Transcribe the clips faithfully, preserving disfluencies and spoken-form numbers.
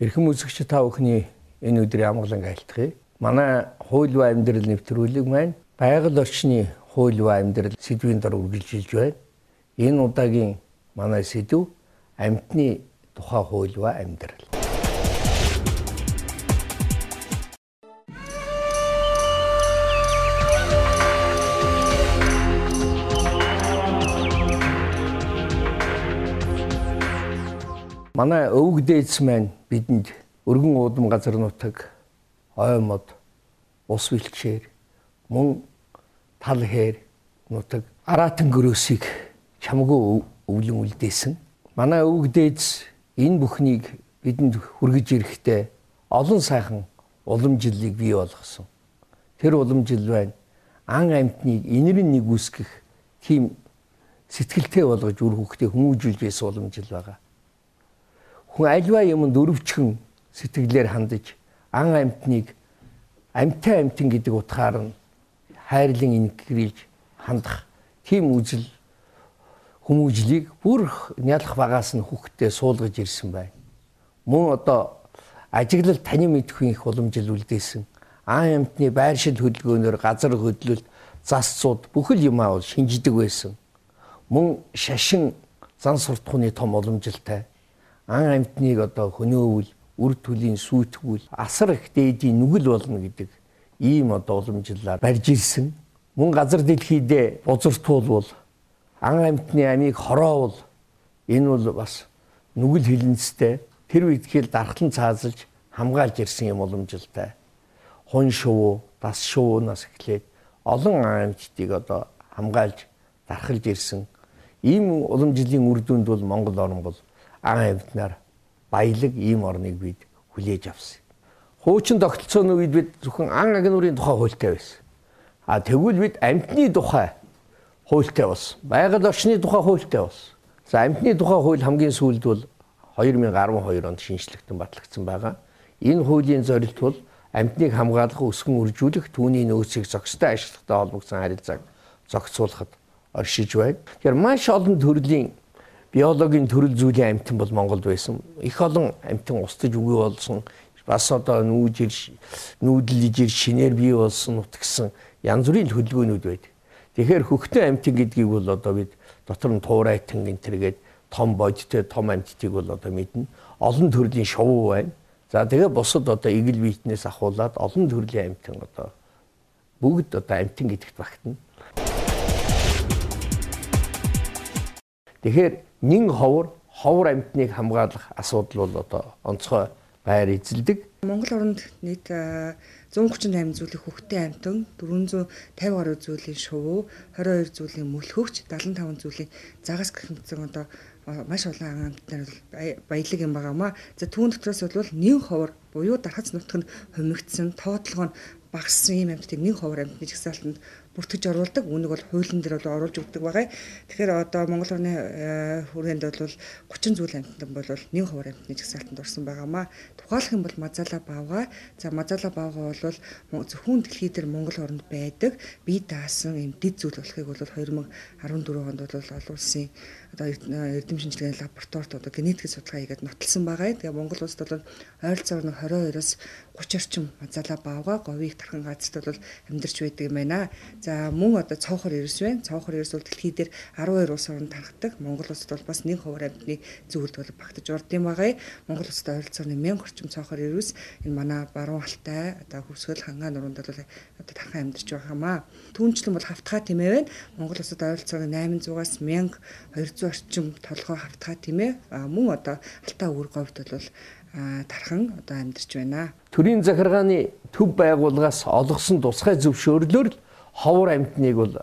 Эрхэм үзэгч та бүхний энэ өдрийн амгалан айлтгая. Манай хууль ба амьдрал нэвтрүүлэг маань байгаль орчны хууль ба амьдрал сэдвийн дор үргэлжилж байна. Энэ удаагийн манай сэдв амьтны тухай хууль ба амьдрал. Манай өвөг дээдс маань бидэнд өргөн уудам газар нутаг, ой мод, ус бэлчээр, мөн тал хээр нутаг, аратан гөрөөсийг чамгүй өвлөн үлдээсэн. Манай өвөг дээдс энэ бүхнийг бидэнд хүргэж ирэхдээ олон сайхан уламжлалыг бий болгосон. Тэр уламжлал байна ан амьтныг инэрэн нэг үсгэх тийм сэтгэлтэй болгож үр хөвгтөө хүмүүжүүлж байсан уламжлал байгаа. Хүн альва юмд өрөвчгөн сэтгэлээр хандаж ан амьтныг амьтай амьтан гэдэг утгаар нь хайрлан инкрилж хандах тийм үзэл хүмүүжлийг бүр нялх багаас нь хүүхдэд суулгаж ирсэн байна. Мөн одоо ажиглал таны мэдхийн их уламжлал үлдээсэн ан амьтны байршил хөдөлгөөнөөр газар хөдлөлт, засцууд бүхэл юмаа бол шинждэг байсан. Мөн шашин зан суртахууны том уламжлалтай ан амьтныг одоо хөнөөвөл, үр төлийн сүйтгэл, асар их дээдийн нүгэл болно гэдэг ийм одоо уламжлалаар барьж ирсэн. Мөн газар дэлхийдээ бузартуулвал ан амьтны амийг хороовол энэ бол бас нүгэл хилэнцтэй тэр үедхэл дархлан цаазалж хамгаалж ирсэн юм уламжлалтай. Хун шувуу, дас шувуунаас эхлээд олон ан амьтдыг одоо хамгаалж дархалж ирсэн. Ийм уламжлалын үр дүнд бол Монгол орн бол ан амьтнаар баялаг ийм орныг бид хүлээж авсан. Хуучин тогтолцооны үед бид зөвхөн ан агнуурын тухай хуультай байсан. А тэгвэл бид амьтны тухай хуультай болсон. Байгаль орчны тухай хуультай болсон. За амьтны тухай хууль хамгийн сүүлд бол хоёр мянган арван хоёр онд шинжлэхтэн батлагдсан байгаа. Энэ хуулийн зорилт бол амьтныг хамгаалах, өсгөн үржүүлэх, түүний нөөцийг зохистой ашигладаг холбогдсон харилцааг зохицуулахад оршиж байна. Тэгэхээр маш олон төрлийн биологийн төрөл зүйлийн амьтан бол Монголд байсан. Их олон амьтан устж үгүй болсон. Бас одоо нүүж ир нүүдлж ир шинээр бий болсон нутгсан янз бүрийн хөдөлгөөнүүд байдаг. Тэгэхээр хөхтөн амьтан гэдгийг бол одоо бид дотор нь туурайтан гэнтэргээд том бодтой том амьтдыг бол одоо мэднэ. Олон төрлийн шувуу байна. За тэгээ бусад одоо игэл биетнээс ахуулаад олон төрлийн амьтан одоо бүгд одоо амьтан гэдэгт багтана. Тэгэхээр нэн ховор ховор амьтныг хамгаалах асуудал бол одоо онцгой байр эзэлдэг. Монгол оронд нийт зуун гучин восемь зүйлийн хөхтөн амьтан, дөрвөн зуун тавин гаруй зүйлийн шувуу, хорин хоёр зүйлийн мөлхөгч, дадлан таван зүйлийн загас гэх мэт одоо маш олон ан амьтнаар баялаг юм байгаамаа. За түүн дотроос бол нэн ховор буюу дархац нутаг нь хумигдсан, тоотлого нь багассан ийм амьтдыг нэн ховор амьтны жагсаалтанд бүртгэж оруулдаг. Үүнийг бол хуулийн дээр бол оруулж өгдөг байгаа. Тэгэхээр одоо Монгол орны хүрээнд бол гучин зүйл амьтан бол нэн ховор амьтны жагсаалтанд орсон байгаамаа. Тухайлах юм бол Мазала Баавга. За Мазала Баавга бол зөвхөн дэлхий дээр Монгол оронд байдаг бие даасан юм дэд зүйл болохыг бол хоёр мянган арван дөрөв онд бол олон улсын одоо эрдэм шинжилгээний лабораторид одоо генетик судалгаа хийгээд нотолсон байгаа. Тэгээ Монгол улсад бол ойролцоогоор двадцать двоёроос гучин орчим Мазала Баавга говийг тархан газарт бол амьдарч байдаг юм байна. За мөн одоо цоохор эрс байна. Цоохор эрс бол дэлхий дээр арван хоёр улс оронд тархдаг. Монгол улсад бол бас нэг ховор амьтны зүйлд бол багтаж орд юм байгаа. Монгол улсад ойролцоогоор мянга орчим цоохор эрс энэ манай баруун алтай одоо хөвсгөл хангаан нуруунд бол одоо тархан амьдарч байгаа юмаа. Түүнчлэн бол хавтгай тэмээ байна. Монгол улсад ойролцоогоор восемь сотоос мянга хоёр зуун орчим толгой хавтгай тэмээ. Мөн одоо алтай өвөр говьд бол тархан одоо амьдарч байна. Төрийн захиргааны төв байгууллагаас олгосон тусгай зөвшөөрлөөр ховор амьтныг бол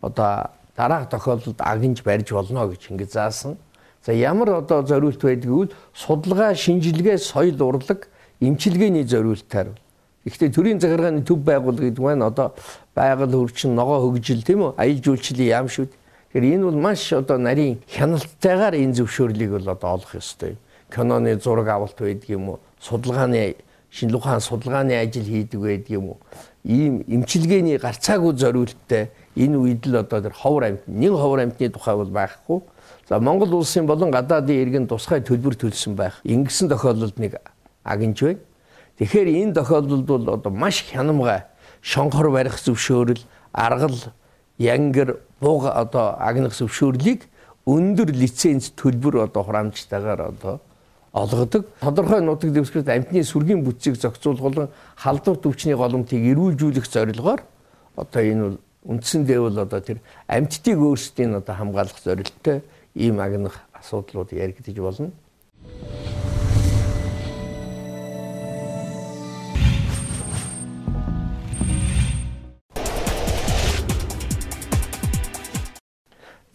одоо дараах тохиолдолд агнж барьж болно гэж ингэ заасан. За ямар одоо зориулт байдгийг бол судалгаа, шинжилгээ, соёл урлаг, эмчилгээний зориултаар Гэхдээ төрийн захиргааны төв байгууллага гэдэг нь одоо байгаль хөгжин, ногоо хөгжил тийм үү? Аял жуулчлалын яам шүү. Тэгэхээр энэ бол маш одоо нарийн хяналтайгаар энэ зөвшөөрлийг бол одоо олох ёстой юм. Киноны зураг авалт байдаг юм уу? Судалгааны шинжлэх ухааны судалгааны ажил хийдэг байдаг юм уу? Ийм эмчилгээний гарцаагүй зориулттай энэ үед л одоо тэр ховор амьтны нэг ховор амьтны тухай бол байхгүй. За Монгол улсын болон гадаадын иргэн тусгай төлбөр төлсөн байх. Ингэсэн тохиолдолд нэг агнж байна. Тэгэхээр энэ тохиолдолд бол одоо маш хянамгай шонхор барих зөвшөөрөл, аргал, янгар, буг одоо агнах зөвшөөрлийг өндөр лиценз төлбөр одоо хураамжтайгаар одоо олгодог. Тодорхой нутаг дэвсгэрт амьтны сүргийн бүтцийг зохицуулах болон халдвар төвчний голомтыг эрүүлжүүлэх зорилгоор одоо энэ бол үндсэндээ бол одоо тэр амьтдыг өөрсдийн одоо хамгаалах зорилттой ийм агнах асуудлууд яригдж болно.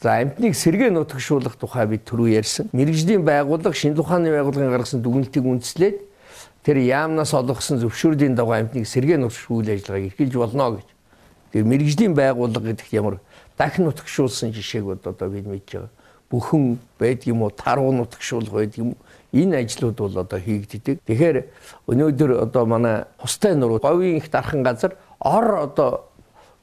За амьтныг сэргээ нутагшуулах тухай бид түрүү ярьсан. Мэргэжлийн байгууллага, шинжлэх ухааны байгууллагын гаргасан дүгнэлтийг үндэслээд тэр яамнаас олгосон зөвшөөрлийн дагуу амьтныг сэргээ нутагшуулах ажиллагааг эрхэлж болно гэж. Тэр мэргэжлийн байгууллага гэдэгт ямар дахин нутагшуулсан жишээг одоо бид мэдж байгаа. Бүхэн байдаг юм уу, таруу нутагшуулах байдаг юм уу? Энэ ажлууд бол одоо хийгддэг. Тэгэхээр өнөөдөр одоо манай хустай нуруу говийн их дархан газар ор одоо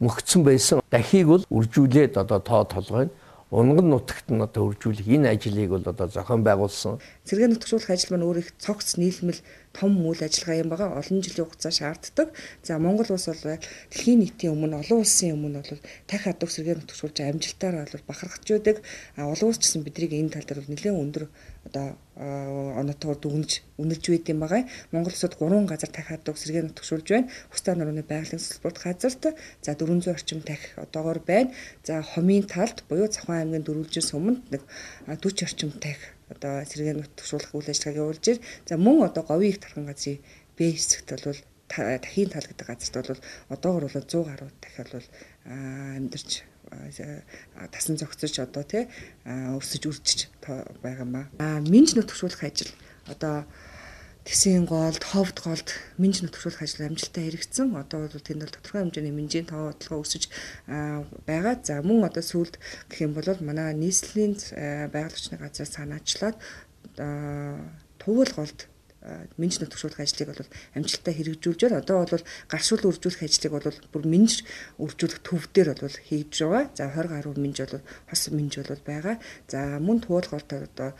мөгцсөн байсан дахийг бол үржүүлээд одоо тоо толгойн унган нутагт нь одоо үржүүлэх энэ ажлыг бол одоо зохион байгуулсан. Сэргээ нутагшуулах ажил маань өөр их цогц нийлмэл том үйл ажиллагаа юм байгаа. Олон жилийн хугацаа шаарддаг. За Монгол улс бол дэлхийн нийтийн өмнө олон улсын өмнө бол дахь хадууг сэргээ нутагшуулж амжилтаар бол бахархаж байдаг. А олон улс ч гэсэн бидрийг энэ тал дээр нэлээд өндөр одоо онотоор дүгнэж үнэлж байд юм байгаа. Монгол улсад гурван газар дахь хадууг сэргээ нутагшуулж байна. Хустай нурууны байгалийн салбарт газарт за дөрвөн зуун орчим дахь одоогоор байна. За Хомын талд буюу Цавхан аймгийн Дөрвөлжин суманд нэг дөрвөн орчим дахь одоо сэргээ нутагшуулах үйл ажиллагааг явуулж байна. За мөн одоо говийн их тархан газрын Б хэсэгт бол дахийн тал гэдэг газарт бол одоогоор бол зуун гаруй дахь бол амьдарч тасан зогцож одоо тий өсөж үржиж байгаа юм ба. А минж нутагшуулах ажил одоо Тэсийн голд, ховд голд минж нутагшуулах ажил амжилттай хэрэгжсэн. Одоо бол тэнд бол тодорхой хэмжээний минжийн тоо бодлого өсөж байгаа. За мөн одоо сүүлд гэх юм бол манай нийслэлийн байгалийн газраас санаачлаад Тувал голд минж нутагшуулах ажлыг бол амжилттай хэрэгжүүлж байна. Одоо бол гаршуул үржүүлэх ажлыг бол бүр минж үржүүлэх төв дээр бол хийж байгаа. За двадцать гаруй минж бол хос минж бол байгаа. За мөн туулгалт одоо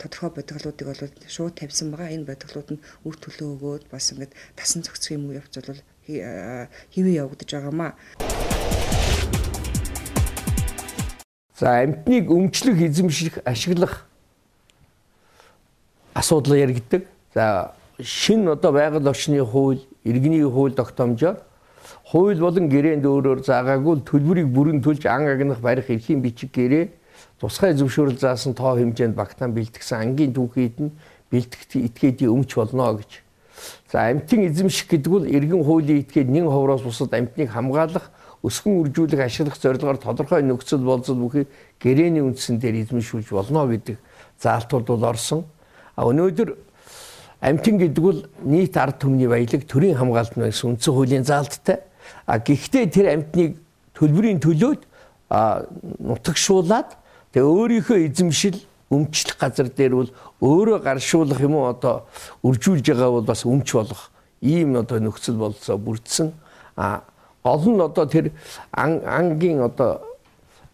тодорхой бодгалуудыг бол шууд тавьсан байгаа. Энэ бодгалууд нь үр төлөө өгөөд бас ингээд тасан зохицох юм явц бол хэвээ явагдаж байгаамаа. За амьтныг өмчлөх, эзэмших, ашиглах асуудал яригддаг. За шинэ одоо байгаль орчны хууль, иргэний хууль тогтоомжоор хууль болон гэрээнд өөрөөр заагаагүй төлбөрийг бүрэн төлж ан агнах барих эрхийн бичиг гэрээ тусгай зөвшөөрөл заасан тоо хэмжээнд багтаан бэлтгэсэн ангийн түүхийд нь бэлтгэх этгээдийн өмч болно гэж. За амьтын эзэмших гэдэг бол иргэн хуулийн этгээд нэн ховроос бусад амьтныг хамгаалах, өсгөн үржүүлэх, ашиглах зорилгоор тодорхой нөхцөл болцол бүхий гэрээний үндсэн дээр эзэмшүүлж болно гэдэг заалтууд бол орсон. А өнөөдөр амьтан гэдэг бол нийт ард түмний баялаг, төрийн хамгаалалт гэсэн үндсэн хуулийн заалттай. А гэхдээ тэр амьтныг төлбөрийн төлөөд нутагшуулаад тэгээ өөрийнхөө эзэмшил өмчлөх газар дээр бол өөрөө гаршуулах юм уу одоо үржүүлж байгаа бол бас өмч болох ийм одоо нөхцөл болцоо бүрдсэн. А гол нь одоо тэр ангийн одоо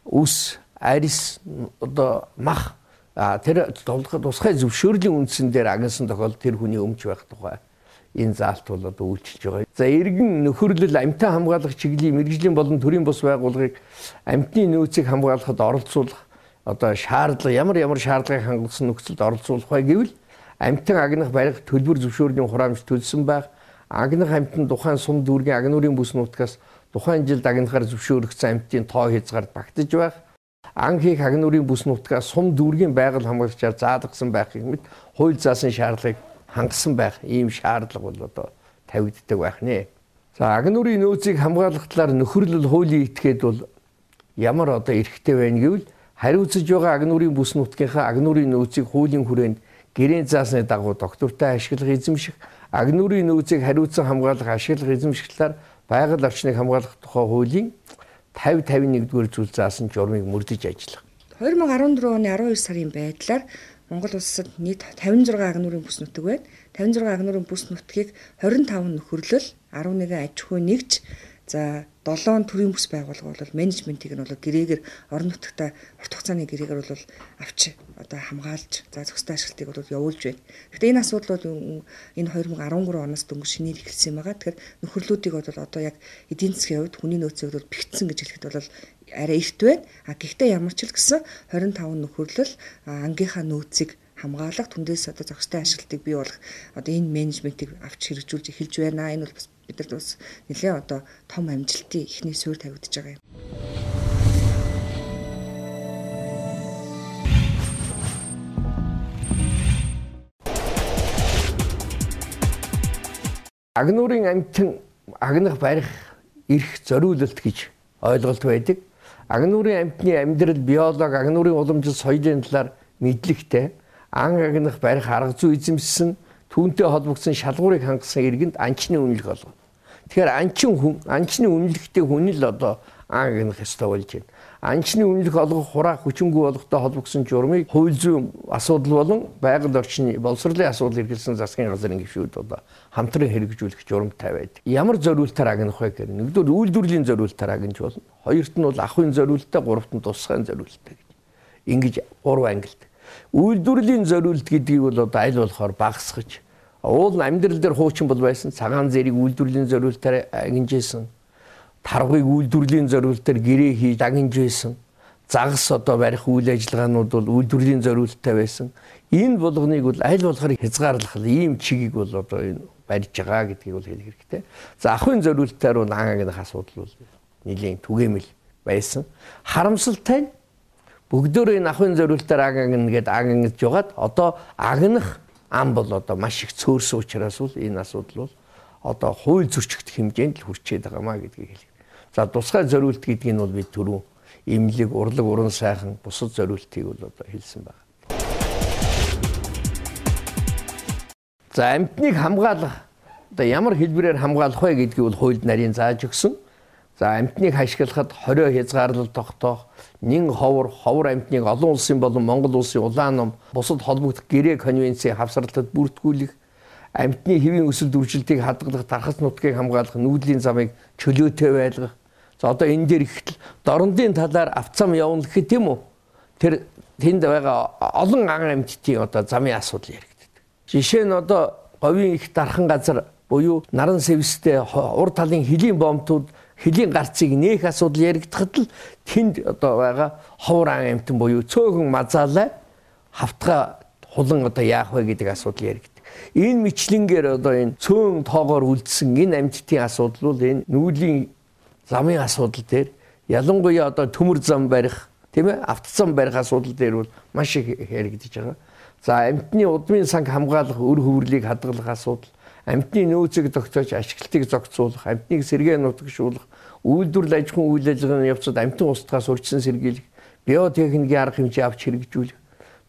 үс, арис одоо мах тэр тусгай зөвшөөрлийн үндсэн дээр агнасан тохиолдолд тэр хүний өмч байх тухай энэ заалт бол одоо үйлчилж байгаа. За иргэн нөхөрлөл амьтан хамгаалах чиглэлийн мэргэжлийн болон төрийн бус байгууллагыг амьтны нөөцийг хамгаалахад оролцуулах одоо шаардлага ямар ямар шаардлагыг хангалтсан нөхцөлд оролцуулах бай гэвэл амьтан агнах барих төлбөр зөвшөөрлийн хураамж төлсөн байх, агнах амьтан тухайн сум дүүргийн агнуурын бүс нутгаас тухайн жилд агнахаар зөвшөөрөгдсөн амьтын тоо хязгаарт багтаж байх, ан хийх агнуурын бүс нутгаас сум дүүргийн байгаль хамгаалагчаар заалгасан байх гэмэд хууль заасан шаардлагыг хангасан байх ийм шаардлага бол одоо тавигддаг байх нэ. За агнуурын нөөцийг хамгаалах талаар нөхөрлөл хуулийн этгээд бол ямар одоо эрхтэй байна гэвэл хариуцж байгаа агнуурын бүс нутгийнхаа агнуурын нөөцийг хуулийн хүрээнд гэрээнд заасны дагуу доктортой ашиглах, эзэмших, агнуурын нөөцийг хариуцсан хамгаалах ашиглах эзэмшгэлээр байгаль орчныг хамгаалах тухай хуулийн тавь тавин нэгдүгээр зүйл заасан журмыг мөрдөж ажиллах. две тысячи дөрвөн оны арван хоёр сарын байдлаар Монгол улсад нийт тавин зургаан агнуурын бүс нутаг байна. тавин зургаан агнуурын бүс нутгийг хорин таван нөхөрлөл, арван нэгэн аж ахуй нэгж, за долоон төрийн бүс байгууллага бол менежментийг нь бол гэрээгээр орон нутагта урт хугацааны гэрээгээр бол авч одоо хамгаалж, за зохистой ашиглалтыг бол явуулж байна. Гэхдээ энэ асуудал бол энэ две тысячи дөрвөн оноос дөнгөж шинээр эхэлсэн байгаа. Тэгэхээр нөхөрлүүдийг бол одоо яг эдийн засгийн хувьд хүний нөөцийн хувьд бол бэгдсэн гэж хэлэхэд бол арай эрт байна. А гэхдээ ямар ч л гэсэн двадцать пять нөхөрлөл ангийнхаа нөөцийг хамгаалах, түндээс одоо зохистой ашиглалтыг бий болгох одоо энэ менежментийг авч хэрэгжүүлж эхэлж байна. Энэ бол бас бидэрт бас нэлээд одоо том амжилтын эхний суурь тавигдж байгаа юм. Агнуурын амьтан агнах барих эрх зориулалт гэж ойлголт байдаг. Агнуурын амьтны амьдрал, биологи, агнуурын уламжлал, соёлын талаар мэдлэгтэй, ан агнах барих арга зүй эзэмшсэн, түүнтэй холбогдсон шалгуурыг хангасан иргэнд анчны үнэлэх олгоно. Тэгэхээр анчин хүн, анчны үнэлэхтэй хүн л одоо ан агнах ёстой болж байна. Анчны үнэлэх олгох хураах хүчингүй болгохтой холбогдсон журмыг хууль зүйн асуудал болон байгаль орчны боловсролын асуудал эргэлсэн засгийн газрын гишүүд одоо хамтран хэрэгжүүлэх журамтай байдаг. Ямар зориултаар агнах вэ гэхээр нэгдүгээр үйлдвэрлэлийн зориултаар агнж болно. Хоёрт нь бол ахуйн зориултаа, гуравт нь тусгайн зориултаа гэж. Ингэж гурван ангилт. Үйлдвэрлэлийн зориулт гэдгийг бол одоо аль болохоор багасгаж, уул амьдрал дээр хуучин бол байсан цагаан зэрэг үйлдвэрлэлийн зориултаар агнжсэн. Таргыг үйлдвэрлэлийн зориултаар гэрээ хийж агнж байсан. Загас одоо барих үйл ажиллагаанууд бол үйлдвэрлэлийн зориулттай байсан. Энэ болгоныг бол аль болохоор хязгаарлах ийм чигийг бол одоо энэ барьж байгаа гэдгийг бол хэлэх хэрэгтэй. За ахуйн зориултаар бол ан агнах асуудал бол нэлийн түгээмэл байсан. Харамсалтай нь бүгдөө энэ ахуйн зориултаар ан агна гэдэг агнаж жагаад одоо агнах ам бол одоо маш их цөөрсөн учраас бол энэ асуудал бол одоо хууль зөрчигдөх хэмжээнд л хүрчээд байгаамаа гэдгийг хэлээ. За тусгай зориулт гэдгийг нь бол бид түрүү имлэг, урлаг, уран сайхан бусад зориултыг бол одоо хэлсэн байна. За амьтныг хамгаалах одоо ямар хэлбэрээр хамгаалах вэ гэдгийг бол хуульд нарийн зааж өгсөн. За амьтныг ашиглахад хорио хязгаарлалт тогтоох, нэн ховор, ховор амьтныг олон улсын болон Монгол улсын улаан ном, бусад холбогдох гэрээ конвенцийн хавсралтад бүртгүүлэх, амьтны хэвийн өсөлт үржилтийг хадгалах, тархас нутгийг хамгаалах, нүүдлийн замыг чөлөөтэй байлгах. За одоо энэ дээр ихтэл дорндын талаар авцам явна гэхэд тийм үү? Тэр тэнд байгаа олон ан амьтдын одоо замын асуудал яригддаг. Жишээ нь одоо говийн их дархан газар буюу наран сэвстэй ур талын хөлийн бомтууд хөлийн гарцыг нээх асуудал яригдахад л тэнд одоо байгаа ховор ан амьтан буюу цөөхөн мазаалаа хавтга хулан одоо яах вэ гэдэг асуудал яригддаг. Энэ мэтлэнгээр одоо энэ цөөн тоогоор үлдсэн энэ амьтдын асуудал бол энэ нүүдлийн замын асуудал дээр ялангуяа одоо төмөр зам барих, тийм ээ, автозам барих асуудал дээр бол маш их яригдж байгаа. За амьтны удмын санг хамгаалах, өр хөврлийг хадгалах асуудал, амьтны нөөцийг зохицуулж ашиглалтыг зохицуулах, амьтныг сэргээ нутагшуулах, үйлдвэрлэл аж ахуйн үйл ажиллагааны явцад амьтан устгаас урьдчилан сэргийлэх, биотехникийн арга хэмжээ авч хэрэгжүүлэх.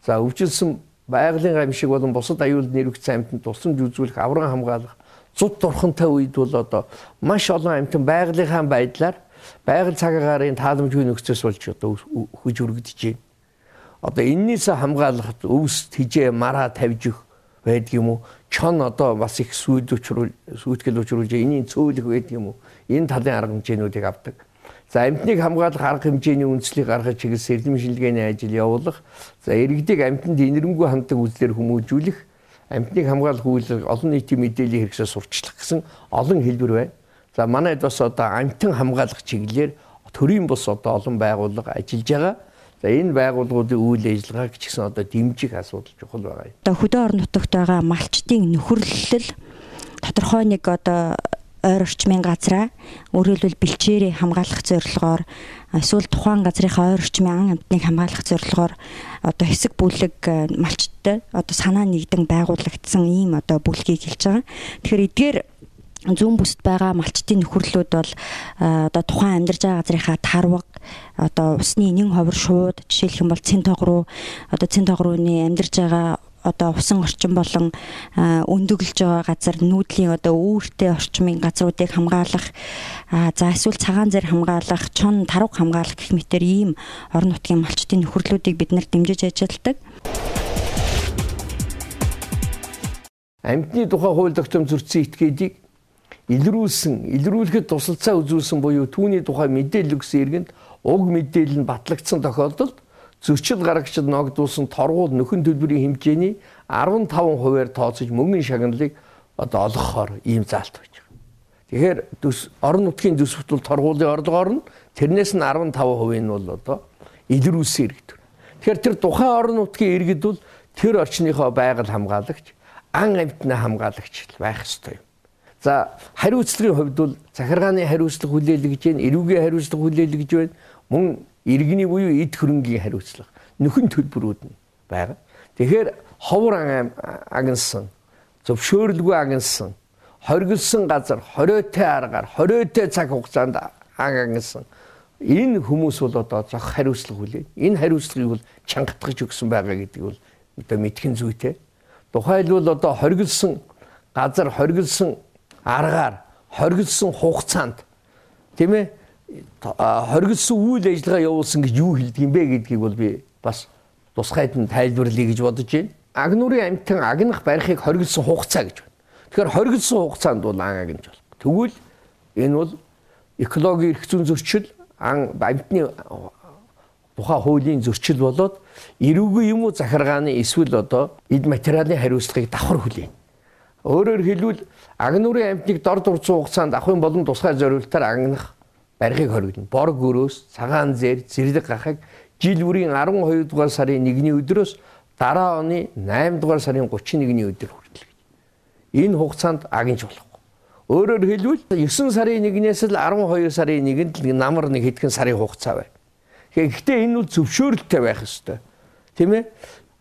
За өвчлсөн байгалийн гамшиг болон бусад аюулд нэрвэгдсэн амьтанд тусламж үзүүлэх, авран хамгаалах, зуд дурхантай үед бол одоо маш олон амьтан байгалийнхаа байдлаар байгаль цаг агаарын тааламжгүй нөхцөөс болж одоо хөж өргөдөж байна. Одоо эннээс хамгаалахад өвс тижээ мараа тавьж өгөх байдаг юм уу? Чон одоо бас их сүйд учруул сүйтгэл учруулж энэний цөөлөх байдаг юм уу? Энэ талын арга хэмжээнүүдийг авдаг. За амьтныг хамгаалах арга хэмжээний үндслийг гаргаж чиглэсэн эрдэм шинжилгээний ажил явуулах. За иргэдэг амьтанд инэрмгүй ханддаг үзлээр хүмүүжүүлэх. Амьтныг хамгаалах үйлрэг олон нийтийн мэдээллийн хэрэгсээ сурчлах гэсэн олон хэлбэр байна. За манайд бас одоо амьтан хамгаалах чиглэлээр төрийн бус одоо олон байгууллага ажиллаж байгаа. За энэ байгууллагуудын үйл ажиллагааг ч гэсэн одоо дэмжих асуудал чухал байгаа юм. Одоо хөдөө орон нутагт байгаа малчдын нөхөрлөл тодорхой нэг одоо ойр орчмын газраа өөрөөр хэлбэл бэлчээрээ хамгаалах зорилгоор эсвэл тухайн газрынхаа ойр орчмын ан амьтныг хамгаалах зорилгоор одоо хэсэг бүлэг малчдтай одоо санаа нэгдэн байгуулагдсан ийм одоо бүлгийг хэлж байгаа. Тэгэхээр эдгээр зүүн бүсд байгаа малчдын нөхөрлөлүүд бол одоо тухайн амьдарч байгаа газрынхаа тарваг одоо усны нэн ховор шууд жишээлх юм бол цэн тоог руу одоо цэн тоог рууны амьдарч байгаа одоо усан орчин болон өндөглөж байгаа газар нүүдлийн одоо үүртэй орчмын газруудыг хамгаалах, за эсвэл цагаан зэр хамгаалах, чон тарууг хамгаалах гэх мэтэр ийм орон нутгийн малчдын нөхөрлүүдийг бид нар дэмжиж ажилладаг. Амьтны тухай хууль тогтоом зөрчсөн этгээдийг илрүүлсэн, илрүүлэхэд тусалцаа үзүүлсэн буюу түүний тухай мэдээлэл өгсөн иргэнд уг мэдээлэл нь батлагдсан тохиолдолд зөрчил гаргагчид ногдуулсан торгуул нөхөн төлбөрийн хэмжээний арван таван хувиар тооцож мөнгөний шагналыг одоо олгохоор ийм заалт байж байгаа. Тэгэхээр орон нутгийн төсөвт бол торгуулийн орлогоор нь тэрнээс нь арван таван хувийн нь бол одоо илрүүлсэн иргэд. Тэгэхээр тэр тухайн орон нутгийн иргэд бол тэр орчныхоо байгаль хамгаалагч, ан амьтнаа хамгаалагч байх ёстой юм. За хариуцлагын хувьд бол захиргааны хариуцлага хүлээлгэж байна, эрүүгийн хариуцлага хүлээлгэж байна, мөн иргэний буюу эд хөрөнгийн хариуцлага, нөхөн төлбөрүүд нь байгаа. Тэгэхээр ховор агнсан, зөвшөөрлгүй агнсан, хоригдсан газар, хориотой аргаар, хориотой цаг хугацаанд агнсан энэ хүмүүс бол одоо зах хариуцлага хүлээн. Энэ хариуцлагыг бол чангатгаж өгсөн байгаа гэдэг бол одоо мэдхэн зүйтэй. Тухайлбал одоо хоригдсан газар, хоригдсан аргаар, хоригдсан хугацаанд тийм ээ хоригдсан үйл ажиллагаа явуулсан гэж юу хэлдэг юм бэ гэдгийг бол би бас тусгайд нь тайлбарлая гэж бодож байна. Агнуурын амьтан агнах барихыг хоригдсан хугацаа гэж байна. Тэгэхээр хоригдсан хугацаанд бол ан агнж болох. Тэгвэл энэ бол экологийн эрх зүйн зөрчил, ан амьтны тухай хуулийн зөрчил болоод эрүүгийн юм уу захиргааны эсвэл одоо эд материалын хариуцлагыг давхар хүлээнэ. Өөрөөр хэлбэл агнуурын амьтныг дор дурцсан хугацаанд авахын болон тусгай зорилтоор агнах барихыг хоригдно. Бор гөрөөс, цагаан зэр, зэрлэг гахаг жил бүрийн арван хоёр дугаар сарын нэгний өдрөөс дараа оны найман дугаар сарын гучин нэгний өдөр хүртэл. Энэ хугацаанд агнж болохгүй. Өөрөөр хэлбэл есөн сарын нэгнээс л арван хоёр сарын нэгэнд л намар нэг хэдхэн сарын хугацаа байна. Гэхдээ энэ бол зөвшөөрөлттэй байх ёстой. Тийм ээ?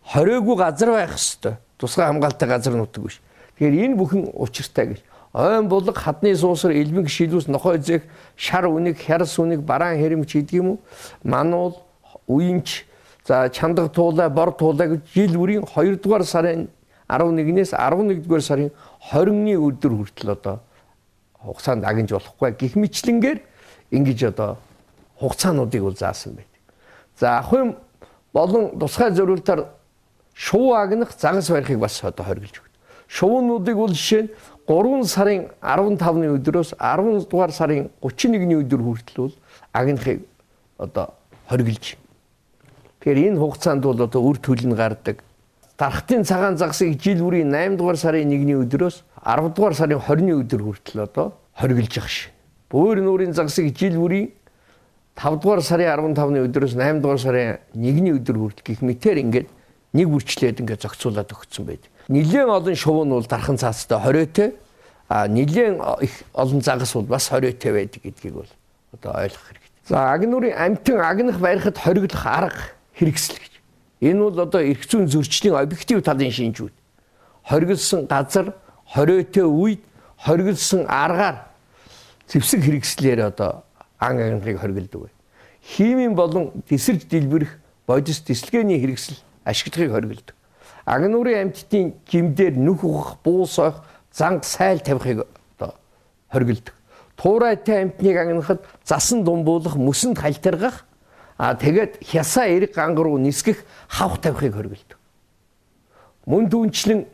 Хориогүй газар байх ёстой. Тусгай хамгаалалттай газар нутаг биш. Тэгэхээр энэ бүхэн учиртай гэж. Ойн булга, хадны суусар, элбэн гişилүүс, нохой зэх, шар үнийг, хярс үнийг, бараан хэрэмч гэдэг юм уу? Мануул, уянч, за чандаг туулай, бор туулай гэж жил бүрийн хоёр дугаар сарын арван нэгнээс арван нэгдүгээр сарын хорины өдөр хүртэл одоо хугацаанд агнж болохгүй. Гэх мэтлэнгээр ингэж одоо хугацаануудыг бол заасан байдаг. За ахын болон тусгай зорилтоор шувуу агнах, загас барихыг бас одоо хоригдж өгдөг. Шувуунуудыг бол жишээ нь гурван сарын арван тавны өдрөөс арван дугаар сарын гучин нэгний өдөр хүртэл бол агнахыг одоо хоригдж. Тэгэхээр энэ хугацаанд бол одоо үр төлн гардаг. Дархтын цагаан загсыг жил бүрийн найман дугаар сарын нэгний өдрөөс арав дугаар сарын хорины өдөр хүртэл одоо хоригдж явах шин. Бөөр нүүрийн загсыг жил бүрийн тав дугаар сарын арван тавны өдрөөс найман дугаар сарын нэгний өдөр хүртэл гих мэтэр ингээд нэг үрчлээд ингээд зохицуулаад өгсөн байдаг. Нилээн олон шувуу нь бол дархан цаастай хориотой, а нилээн их олон загас бол бас хориотой байдаг гэдгийг бол одоо ойлгох хэрэгтэй. За агнуурын амьтан агнах барихад хориглох арга хэрэгсэл гэж. Энэ бол одоо эрх зүйн зөрчлийн объектив талын шинжүүд. Хоригдсан газар, хориотой үед, хоригдсан аргаар зэвсэг хэрэгслээр одоо ан агнахыг хоригддог бай. Химийн болон тесэрж дэлбэрэх бодис дислгээний хэрэгсэл ашиглагыг хоригддог. Агнуурын амьтдын жимдээр нүх ухах, буус ойх, занг сайл тавихыг одоо хоригддог. Туурайтай амьтныг агнахад засан думбуулах, мөсөнд халтаргах, а тэгээд хясаа эрэг гангар руу нисгэх, хавх тавихыг хоригддог. Мөн түүнчлэн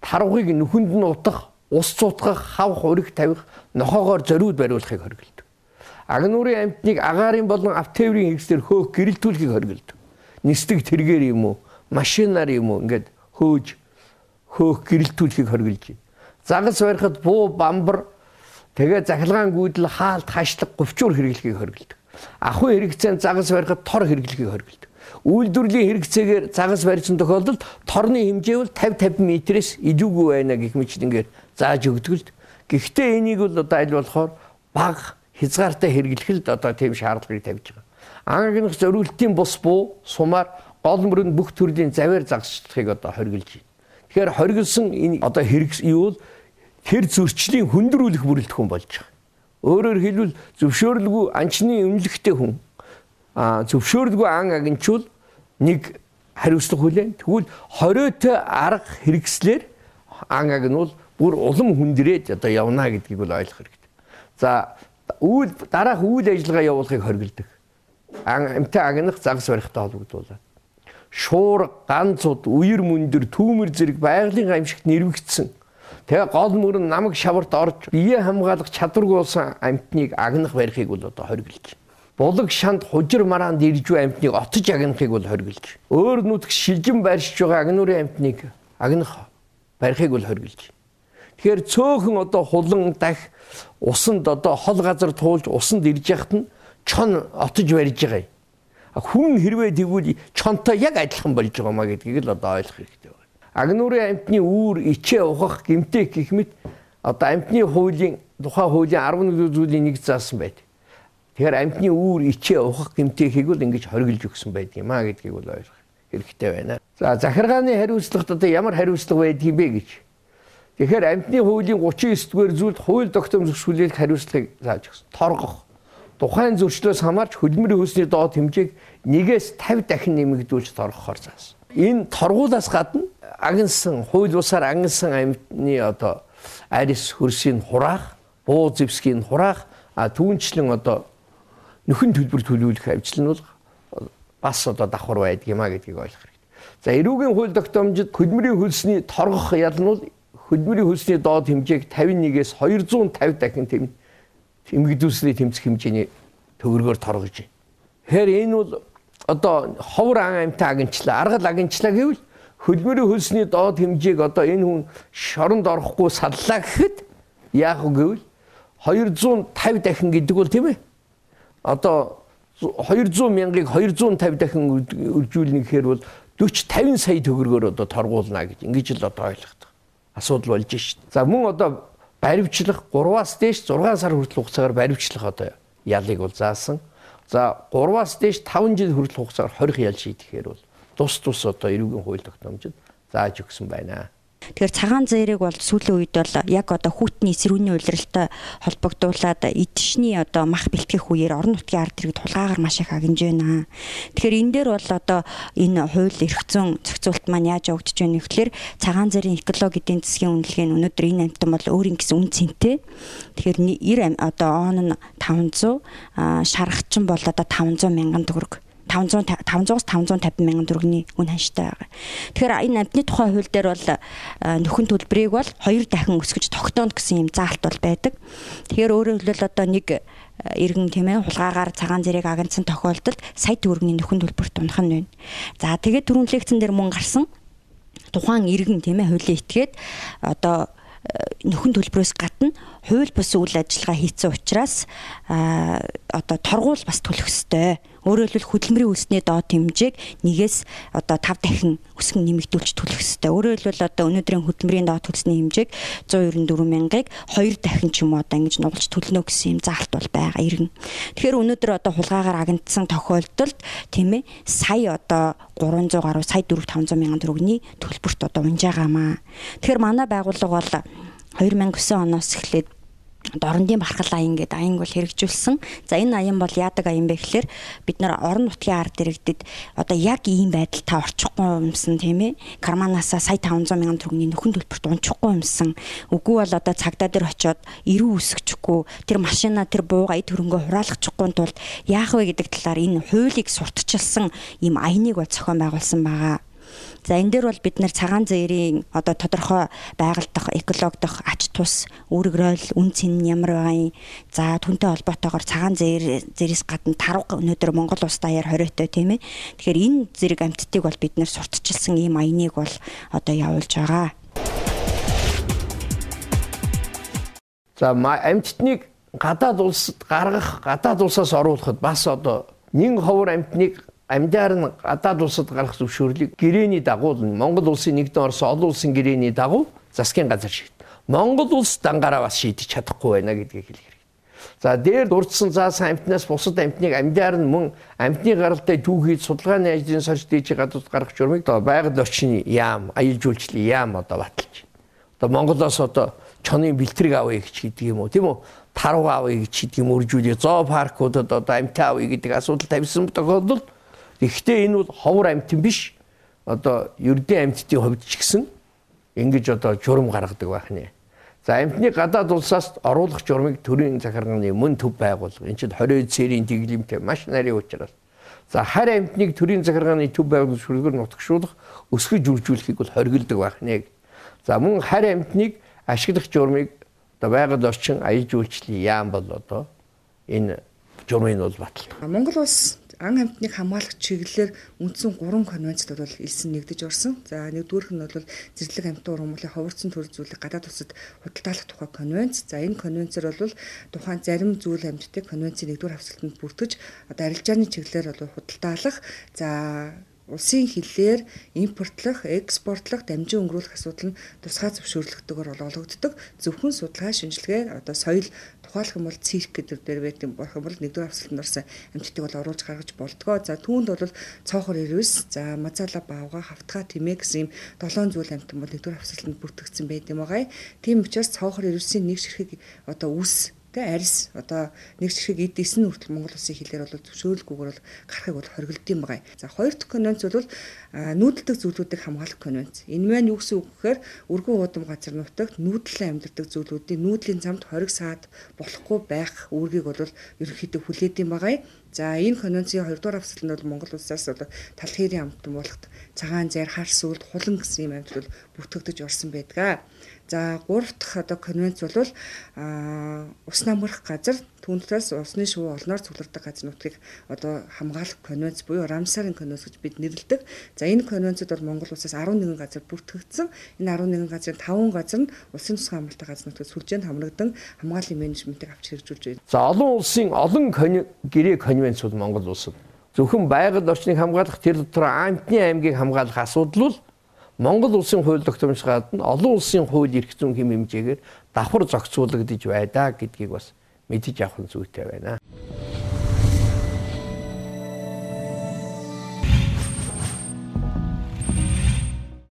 тарвыг нүхэнд нь утах, ус цутгах, хавх өрг тавих, нохоогоор зориуд бариулахыг хоригддог. Агнуурын амьтныг агаарын болон автоврын хэрэгслэр хөөх гэрэлтүүлэхийг хоригддог. Нисдэг тэргээр юм уу, машинаар юм уу ингээд хөөж хөөх гэрэлтүүлэхийг хоригдж байна. Загас барихад буу, бамбар, тэгээ захилгаан гүйдэл, хаалт, хашлаг, говчуур хэрэглэхийг хоригддог. Ахуй хэрэгцээнд загас барихад тор хэрэглэхийг хоригддог. Үйлдвэрлэлийн хэрэгцээгээр загас барьсан тохиолдолд торны хэмжээ бол тавь тавин метрээс илүүгүй байна гэх мэтлэнгээр зааж өгдөг л. Гэхдээ энийг бол одоо аль болохоор бага хязгаартай хэрэглэх л одоо тийм шаардлагыг тавьж байгаа. Ан агнах зориултын бус буу, сумаар гол мөрөнд бүх төрлийн завьар загасчлахыг одоо хоригдж байна. Тэгэхээр хоригдсан энэ одоо хэрэгс юу бол тэр зөрчлийн хүндрүүлэх бүрэлдэхүүн болж байгаа. Өөрөөр хэлбэл зөвшөөрлгүй анчны өмнөлөгтэй хүн а зөвшөөрлгүй ан агнчул нэг хариуцлага хүлээн. Тэгвэл хориотой арга хэрэгслэр ангааг нь бол бүр улам хүндрээд одоо явна гэдгийг бол ойлгох хэрэгтэй. За үйл дараах үйл ажиллагаа явуулахыг хориглодог. Амьтан агнах загас барихтай холбогдуулаад. Шуур, ганцуд, үер мөндөр, түүмэр зэрэг байгалийн аимшигт нэрвэгдсэн. Тэгээ гол мөрөн намаг шаварт орж бие хамгаалах чадваргүй болсон амьтныг агнах барихыг бол одоо хориглож. Булаг шанд хужир мараанд ирж буй амьтныг отож агнахыг бол хориглож. Өөр нутагт шилжин байршиж байгаа агнуурын амьтныг агнах барихыг бол хориглож. Тэгэхээр цөөхөн одоо хулан дах усанд одоо хол газар туулж усанд ирж яхад нь чон отож барьж байгаа юм. Хүн хэрвээ тэгвэл чонтой яг адилхан болж байгаа маа гэдгийг л одоо ойлгох хэрэгтэй байна. Агнуурын амьтны үүр ичээ ухах гэмтэх гэх мэт одоо амьтны хуулийн тухайн хуулийн арван нэг зүйлийн нэг заасан байдаг. Тэгэхээр амьтны үүр ичээ ухах гэмтэхийг бол ингэж хориглож өгсөн байдаг юм а гэдгийг бол ойлгох хэрэгтэй байна. За захиргааны хариуцлагт одоо ямар хариуцлага байдгийг бэ гэж. Тэгэхээр амьтны хуулийн гучин девять дугаар зүйлд хууль тогтоом зөвшөөрлөх хариуцлагыг зааж өгсөн. Торгох. Тухайн зөрчлөөс хамаарч хөдөлмөрийн хөлсний доод хэмжээг нэгээс тавь дахин нэмэгдүүлж торгохоор заасан. Энэ торгуулаас гадна агнсан хууль бусаар агнсан амьтны одоо арис хөрсийн хураах, буу зэвсгийн хураах, а түүнчлэн одоо нөхөн төлбөр төлөвлөх ажил нь бол бас одоо давхар байдаг юм а гэдгийг ойлгох хэрэгтэй. За эрүүгийн хууль тогтоомжид хөдөлмөрийн хөлсний торгох ял нь бол хөдөлмөрийн хөлсний доод хэмжээг тавин нэгээс двести пятьдесят дахин тэм эмгэгдүүлсний тэмцэх хэмжээний төгрөгөөр торгож байна. Тэгэхээр энэ бол одоо ховор ан амьтан агнчлаа, аргал агнчлаа гэвэл хөдөлмөрийн хөлсний доод хэмжээг одоо энэ хүн шоронд орохгүй саллаа гэхэд яах вэ гэвэл двести пятьдесят дахин гэдэг бол тийм ээ. Одоо двести мянгаыг двести пятьдесят дахин үржүүлнэ гэхээр бол forty fifty сая төгрөгөөр одоо торгуулна гэж ингэж л одоо ойлгох асуудал болж шít. За мөн одоо баривчлах гураваас дээш зургаан сар хүртэл хугацаагаар баривчлах одоо ялыг бол заасан. За гураваас дээш таван жил хүртэл хугацаагаар хорих ял шийдэхээр бол тус тус одоо эрүүгийн хууль тогтоомжид зааж өгсөн байна. Тэгэхээр цагаан зээрийг бол сүүлийн үед бол яг одоо хүүтний эсрүүний улиралтай холбогдуулаад эдшний одоо мах бэлтгэх үеэр орон нутгийн ард иргэд хулгаагаар маш их агнж байна. Тэгэхээр энэ дээр бол одоо энэ хууль эрх зүйн зохицуулт маань яаж явагдаж байна вэ гэхээр цагаан зээрийн экологи эдийн засгийн үнэлгээ нь өнөөдөр энэ амтан бол өөрийн гэсэн үн цэнтэй. Тэгэхээр нэр одоо он нь таван зуун, шаргачин бол одоо таван зуун мянган төгрөг. five hundred five hundred fifty мянган төгрөгийн үн ханштай байгаа. Тэгэхээр энэ амтны тухай хууль дээр бол нөхөн төлбөрийг бол хоёр дахин өсгөж тогтооно гэсэн юм заалт бол байдаг. Тэгэхээр өөрөөр хэлбэл одоо нэг иргэн тийм ээ хулгаагаар цагаан зэрэг агнцсан тохиолдолд сая төгрөгийн нөхөн төлбөрт унах нь байна. За тэгээд түрүүн лекцэн дээр мөн гарсан тухайн иргэн тийм ээ хуулийн этгээд одоо нөхөн төлбөрөөс гадна хууль бус үйл ажиллагаа хийсэн учраас одоо торгуул бас төлөх ёстой. Өөрөөр хэлбэл хөдөлмөрийн хөлсний доод хэмжээг нэгээс одоо five дахин өсгөн нэмэгдүүлж төлөх ёстой. Өөрөөр хэлбэл одоо өнөөдрийн хөдөлмөрийн доод хөлсний хэмжээг one ninety four мянгаыг two дахин ч юм уу одоо ингэж нугалж төлнө гэсэн юм заалт бол байгаа иргэн. Тэгэхээр өнөөдөр одоо хулгаагаар агнцсан тохиолдолд тийм ээ сая одоо three hundred гаруй сая four five hundred мянган төгрөгийн төлбөрт одоо унж байгаамаа. Тэгэхээр манай байгууллага бол two thousand nine оноос эхлээд дорндын бархал аян гэдэг аян бол хэрэгжүүлсэн. За энэ аян бол яадаг аян бэ гэхээр бид нар орон нутгийн ард иргэдэд одоо яг ийм байдал та орчихгүй юмсан тийм ээ. Карманаасаа сая five hundred мянган төгрөгийн нөхөн төлбөрт унчихгүй юмсан. Үгүй бол одоо цагдаа дээр очиод эрүү үсгэчихгүй тэр машина тэр бууга эд хөрөнгөө хураалгачихгүй тулд яах вэ гэдэг талаар энэ хуулийг сурталчилсан ийм аяныг бол зохион байгуулсан байгаа. За энэ дээр бол бид нар цагаан зээрийн одоо тодорхой байгальдах, экологдох ач тус, үүрэг ройл, үн цэн нь ямар байгаа юм. За түүнтэй холбоотойгоор цагаан зээр зээрээс гадна тарга өнөөдөр Монгол улс даяар хориотой тийм ээ. Тэгэхээр энэ зэрэг амьтдыг бол бид нар сурталчилсан ийм аяныг бол одоо явуулж байгаа. За амьтдыг гадаад улсад гаргах, гадаад улсаас оруулахад бас одоо нэг ховор амьтныг амьдаар нь гадаад улсад гарах зөвшөөрлийг гэрээний дагуу Монгол улсын нэгдэн Орос олон улсын гэрээний дагуу засгийн газар шийд. Монгол улс дангаараа бас шийдэж чадахгүй байна гэдгийг хэлэх хэрэгтэй. За дээр дурдсан заасан амьтнаас бусад амьтныг амьдаар нь мөн амьтны гаралтай түүхийд судалгааны ажлын сорж дээжи гадуур гаргах журмыг одоо байгаль орчны яам, аялал жуулчлалын яам одоо баталж. Одоо Монголоос одоо чонын бэлтрэг авъя гэж гэдэг юм уу тийм үү? Таруу авъя гэж гэдэг юм үржүүлээ. Зоопаркуудад одоо амьтаа авъя гэдэг асуудал тавьсан тохиолдолд Гэхдээ энэ бол ховор амьтан биш. одоо ердийн амьтдын хувьд ч гэсэн ингэж одоо журам гаргадаг байх нэ. За амьтны гадаад улсаас оруулах журмыг төрийн захиргааны мөн төв байгуулга. Энд чинь хорой цэрийн дэглэмтэй маш нарийн учраас. За харь амьтныг төрийн захиргааны төв байгууллагын шүлгээр нутагшуулах, өсгөж үржүүлэхийг бол хоригддаг байх нэ. За мөн харь амьтныг ашиглах журмыг одоо байгаль орчин аяж үйлчлэлийн яам бол одоо энэ журмыг бол баталдаг. Монгол улс ан амьтныг хамгаалах чиглэлээр үндсэн гурван конвенцд бол элсэн нэгдэж орсон. За нэгдүгээрх нь бол зэрлэг амьтан ургамлын ховорцсон төр зүйлийг гадаад улсад худалдаалах тухай конвенц. За энэ конвенцээр бол тухайн зарим зүйл амьтдыг конвенцийн нэгдүгээр хавцлалтанд бүртгэж одоо арилжааны чиглэлээр бол худалдаалах. За улсын хилээр импортлох, экспортлох, дамжин өнгөрүүлэх асуудал нь тусгай зөвшөөрлөгдөөр бол олгогддог. Зөвхөн судалгаа, шинжилгээ, одоо соёл тухайлах юм бол цирк гэдэг дээр байдаг болох юм бол нэгдүгээр хавцлалтанд орсон амьтдыг бол оруулж гаргаж болдгоо. За түүнд бол цоохор ирвэс, за мазала баавга, хавтгай, тэмээ гэсэн юм долоон зүйл амьтан бол нэгдүгээр хавцлалтанд бүртгэгдсэн байдаг байгаа. Тийм учраас цоохор ирвэсийн нэг ширхэг одоо үс тэ арьс одоо нэг ширхэг эд эс нь хүртэл Монгол улсын хилээр бол зөвшөөрлгүйгээр бол гарахыг бол хоригдсон байгаа. За хоёр дахь конвенц бол нүүдэлдэг зүйлүүдийг хамгаалах конвенц. Энэ маань юу гэсэн үг гэхээр өргөн уудам газар нутагт нүүдлэн амьдардаг зүйлүүдийн нүүдлийн замд хориг саад болохгүй байх үүргийг бол ерөнхийдөө хүлээдэг байгаа. За энэ конвенцийн хоёрдугаар хавцлалд бол Монгол улсаас бол тал хэрийн амтан болохт цагаан зайр, хар сүлд, хулан гэсэн юм амьтад бол бүртгэгдэж орсон байдаг. За гурав дахь одоо конвенц бол а ус намграх газар түүнээс усны шувуу олноор цуглардаг газар нутгийг одоо хамгаалах конвенц буюу Рамсарын конвенц гэж бид нэрлэдэг. За энэ конвенцод бол Монгол улсаас арван нэгэн газар бүртгэгдсэн. Энэ арван нэгэн газрын таван газар нь улсын тусгай хамгаалалттай газар нутгийг сүлжээнд хамрагдан хамгааллын менежментийг авч хэрэгжүүлж байна. За олон улсын олон гэрээ конвенц бол Монгол улсад зөвхөн байгаль орчныг хамгаалах тэр дотор амьтны аймгийг хамгаалах асуудал бол Монгол улсын хууль тогтоомж гадна олон улсын хууль эрх зүйн хэм хэмжээгээр давхар зохицуулагдж байдаа гэдгийг бас мэдэж авах нь зүйтэй байна.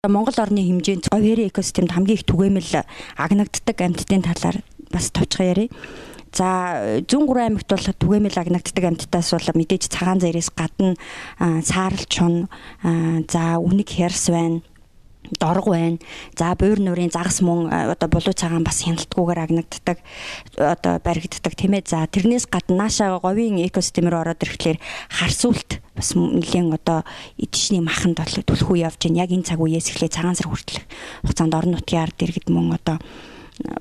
Монгол орны хэмжээнд говь хэрийн экосистемд хамгийн их түгээмэл агнагддаг амьтдын талаар бас товчхон ярив. За зүүн гурван аймагт бол түгээмэл агнагддаг амьтдаас бол мэдээж цагаан зайраас гадна саарл чун, за үнэг хярс байна, дорго байна. За буур нуурын загас мөн одоо булуу цагаан бас хяналтгүйгээр агнагддаг одоо баригддаг тийм ээ. За тэрнээс гадна наашаа говийн экосистемээр ороод ирэхлээр харсуулт бас нэлийн одоо эдшний маханд бол түлхүү явж байна. Яг энэ цаг үеэс эхлээ цагаан сар хүртэл хугацаанд орон нутгийн ард иргэд мөн одоо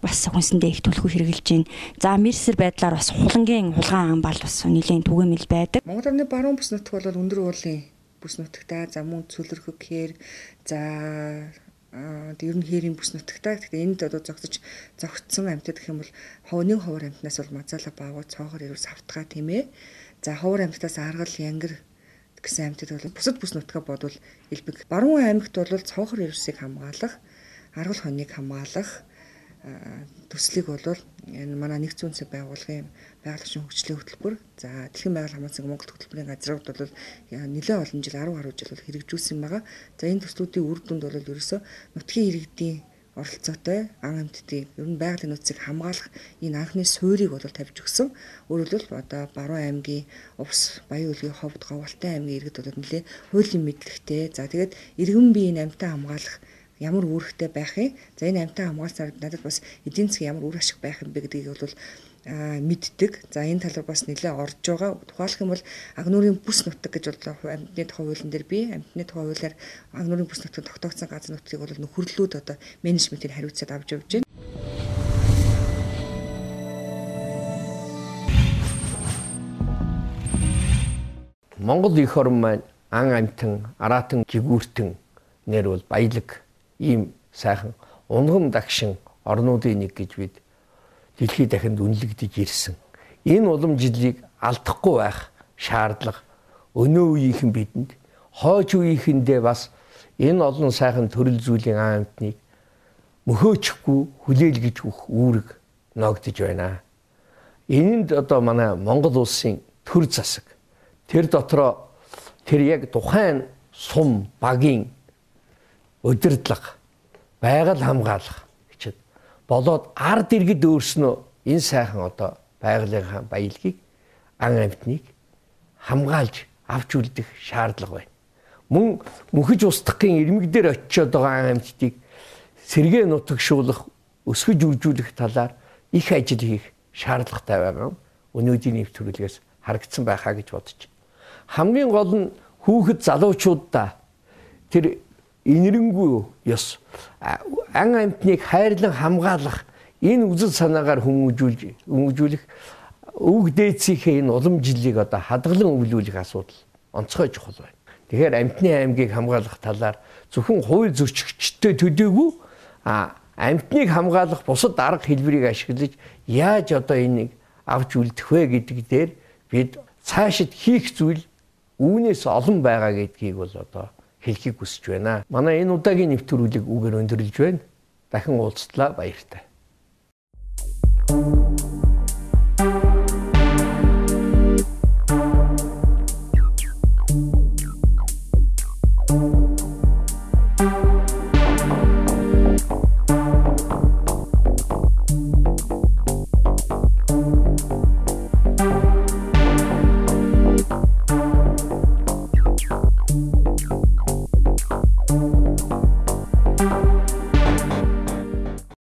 бас хүнсэндээ их түлхүү хэрэгжилж байна. За мэрсэр байдлаар бас хулангийн хулгаан амбал бас нэлийн түгээмэл байдаг. Монгол орны баруун бүс нутг бол өндөр уулын бүс нутагтаа, за мөн цөлөрхөг хээр, за ер нь хээрийн бүс нутагтаа. Тэгэхээр энд одоо зогсож зогтсон амьтад гэх юм бол ховны ховор амьтнаас бол мазала баавуу, цоохор ирвэс, хавтгай тийм ээ. За ховор амьтнаас аргал, янгар гэсэн амьтад бол бусад бүс нутгаа бодвол элбэг. Баруун аймагт бол цоохор ирвэсийг хамгаалах, аргал хоныг хамгаалах төслийг бол энэ манай нэгдсэн үндэсний байгууллагын байгалийн хөгжлийн хөтөлбөр, за дэлхийн байгаль хамгаалсан цаг Монгол хөтөлбөрийн газрууд бол нэлээд олон жил арван гаруй жил бол хэрэгжүүлсэн байгаа. За энэ төслүүдийн үр дүнд бол ерөөсөө нутгийн иргэдийн оролцоотой ан амьтдын ер нь байгалийн нөөцийг хамгаалах энэ анхны суурийг бол тавьж өгсөн. Өөрөлдвөл одоо баруун аймгийн Увс, Баян Улгийн ховд, Говьалтай аймгийн иргэд бол нэлээд хуулийн мэдлэгтэй. За тэгээд иргэн биеийн амьтаа хамгаалах ямар үүрэгтэй байх юм. За энэ амьтаа хамгаалсаар надад бас эдийн засгийн ямар үр ашиг байх юм бэ гэдгийг бол мэддэг. За энэ талаар бас нэлээд орж байгаа. Тухайлх юм бол агнуурын бүс нутаг гэж бол амьтны тухай хуулийн дээр би амьтны тухай хуулиар агнуурын бүс нутагт тогтоогдсон газар нутгийг бол нөхөрлөлүүд одоо менежментийг хариуцаад авч явж байна. Монгол их орн маань ан амьтан, араатан, жигүүртэн нэр бол баялаг ийм сайхан унган дагшин орнуудын нэг гэж бид дэлхийд дахинд үнэлэгдэж ирсэн. Энэ уламжлалыг алдахгүй байх шаардлага өнөө үеийнхэн бидэнд, хойч үеийнхэндээ бас энэ олон сайхан төрөл зүйлийн ан амьтныг мөхөөчгүй хүлээлгэж өгөх үүрэг ногдож байна. Энэнд одоо манай Монгол улсын төр засаг тэр дотроо тэр яг тухайн сум багийн удирдлага, байгаль хамгаалах гэчихэд болоод ард иргэд өөрснөө энэ сайхан одоо байгалийн баялагийг ан амьтныг хамгаалж авч үлдэх шаардлага байна. Мөн мөнхөж устдахын ирмэг дээр очиод байгаа амьтдыг сэргээ нутагшуулах, өсгөж үржүүлэх талаар их ажил хийх шаардлагатай байгаа. Өнөөдрийн нэвтрүүлгээс харагдсан байхаа гэж бодож байна. Хамгийн гол нь хүүхэд залуучуудаа тэр инэрэнгүй ёс ан амьтныг хайрлан хамгаалах энэ үзэл санаагаар хүмүүжүүлж хүмүүжүүлэх өвөг дээдсийнхээ энэ улам жилийг одоо хадгалан өвлүүлэх асуудал онцгой чухал байна. Тэгэхээр амьтны аймгийг хамгаалах талаар зөвхөн хууль зөрчигчтэй төдийгүй а амьтныг хамгаалах бусад арга хэлбэрийг ашиглаж яаж одоо энийг авч үлдэх вэ гэдэг дээр бид цаашид хийх зүйл үүнээс олон байгаа гэдгийг бол одоо хэлхийг хүсэж байна. Манай энэ удаагийн нэвтрүүлэг үгээр өндөрлөж байна. Дахин уулзтлаа, баяртай.